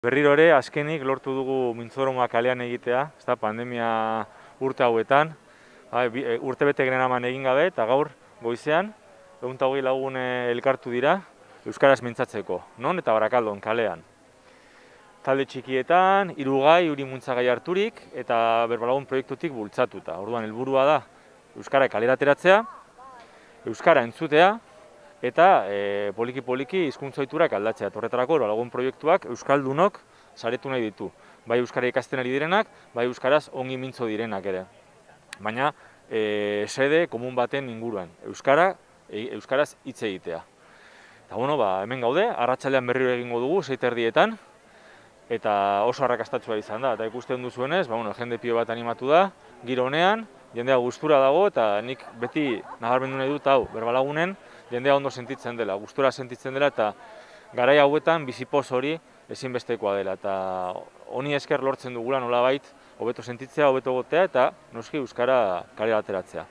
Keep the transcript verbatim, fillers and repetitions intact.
Berriro ere, azkenik lortu dugu Mintzoroma kalean egitea, ez da, pandemia urte hauetan, urte bete generaman egin gabe, eta gaur goizean, ehun eta hogei lagun elkartu dira, euskaraz mintzatzeko, non eta Barakaldon kalean. Talde txikietan, hirugai, uri muntzagai harturik, eta Berbalagun proiektutik bultzatuta. Orduan, helburua da, euskara kalera ateratzea, euskara entzutea, eta poliki-poliki hizkuntza ohiturak aldatzea. Horretarako Berbalagun proiektuak euskaldunok saretu nahi ditu. Bai euskara ikasten ari direnak, bai euskaraz ongi mintzo direnak ere. Baina, sede komun baten inguruan, euskara, euskaraz hitz egitea. Eta bueno, hemen gaude, arratsaldean berriro egingo dugu, sei eta erdietan, eta oso arrakastatsua izan da. Eta ikusten duzuenez, jende pilo bat animatu da, giro honean, jendea gustura dago, eta nik beti nabarmendu nahi dut hau, Berbalagunen, jendea ondo sentitzen dela, gustura sentitzen dela, eta garai hauetan bizipoz hori ezinbestekoa dela. Eta honi esker lortzen dugula nolabait, hobeto sentitzea, hobeto gotea, eta noski euskara kalera ateratzea.